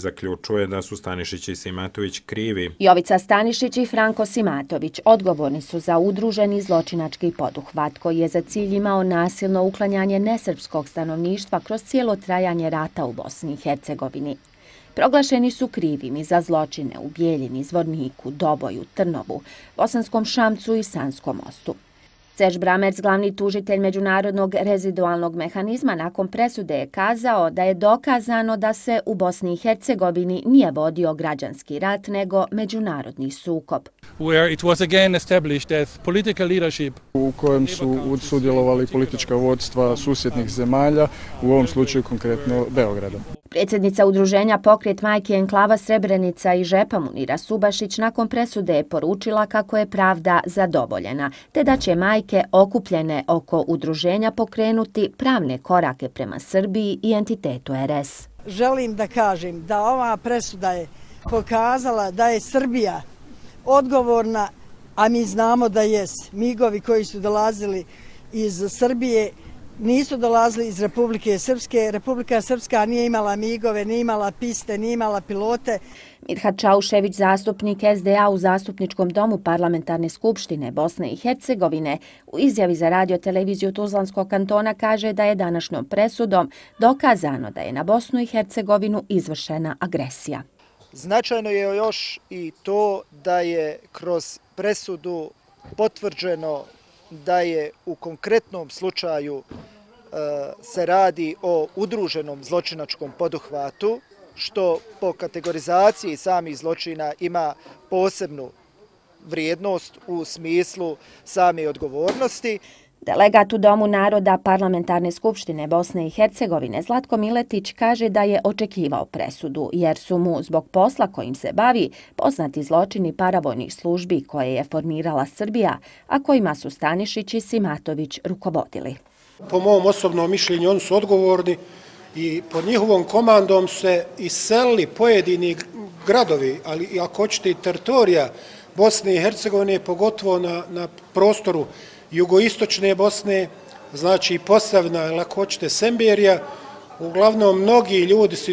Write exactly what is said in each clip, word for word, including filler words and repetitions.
zaključuje da su Stanišić i Simatović krivi. Jovica Stanišić i Franko Simatović odgovorni su za udruženi zločinački poduhvat koji je za cilj imao nasilno uklanjanje nesrpskog stanovništva kroz cijelo trajanje rata u Bosni i Hercegovini. Proglašeni su krivimi za zločine u Bijeljini, Zvorniku, Doboju, Trnovu, Bosanskom Šamcu i Sanskom Mostu. Serge Bramerc, glavni tužitelj Međunarodnog rezidualnog mehanizma, nakon presude je kazao da je dokazano da se u Bosni i Hercegovini nije vodio građanski rat, nego međunarodni sukob. U kojem su sudjelovali politička vodstva susjednih zemalja, u ovom slučaju konkretno Beograda. Predsjednica udruženja Pokret majke enklava Srebrenica i Žepa Munira Subašić nakon presude je poručila kako je pravda zadovoljena, te da će majke okupljene oko udruženja pokrenuti pravne korake prema Srbiji i entitetu er es. Želim da kažem da ova presuda je pokazala da je Srbija odgovorna, a mi znamo da jes. Migovi koji su dolazili iz Srbije nisu dolazili iz Republike Srpske. Republika Srpska nije imala migove, nije imala piste, nije imala pilote. Midhat Čaušević, zastupnik es de a u Zastupničkom domu Parlamentarne skupštine Bosne i Hercegovine, u izjavi za radio-televiziju Tuzlanskog kantona kaže da je današnjom presudom dokazano da je na Bosnu i Hercegovinu izvršena agresija. Značajno je još i to da je kroz presudu potvrđeno da je u konkretnom slučaju se radi o udruženom zločinačkom poduhvatu, što po kategorizaciji samih zločina ima posebnu vrijednost u smislu same odgovornosti. Delegat u Domu naroda Parlamentarne skupštine Bosne i Hercegovine Zlatko Miletić kaže da je očekivao presudu, jer su mu zbog posla kojim se bavi poznati zločini paravojnih službi koje je formirala Srbija, a kojima su Stanišić i Simatović rukovodili. Po mom osobnom mišljenju oni su odgovorni i pod njihovom komandom se iselili pojedini gradovi, ali i ako hoćete i teritorija Bosne i Hercegovine, pogotovo na, na prostoru jugoistočne Bosne, znači Posavina ili ako hoćete Semberija. Uglavnom, mnogi ljudi su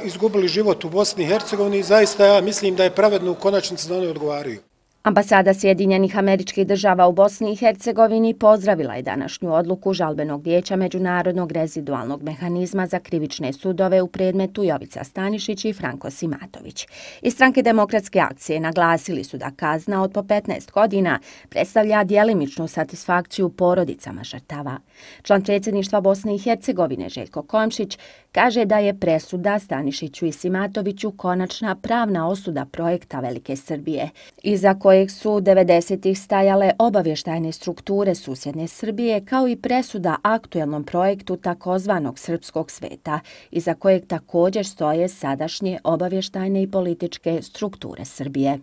izgubili život u Bosni i Hercegovini i zaista ja mislim da je pravedno u konačnici da oni odgovaraju. Ambasada Sjedinjenih Američkih Država u Bosni i Hercegovini pozdravila je današnju odluku Žalbenog vijeća Međunarodnog rezidualnog mehanizma za krivične sudove u predmetu Jovica Stanišić i Franko Simatović. Iz Stranke demokratske akcije naglasili su da kazna od po petnaest godina predstavlja djelimičnu satisfakciju porodicama žrtava. Član predsjedništva Bosne i Hercegovine Željko Komšić kaže da je presuda Stanišiću i Simatoviću konačna pravna osuda projekta Velike Srbije, iza kojeg su devedesetih stajale obavještajne strukture susjedne Srbije, kao i presuda aktuelnom projektu takozvanog Srpskog sveta, iza kojeg također stoje sadašnje obavještajne i političke strukture Srbije.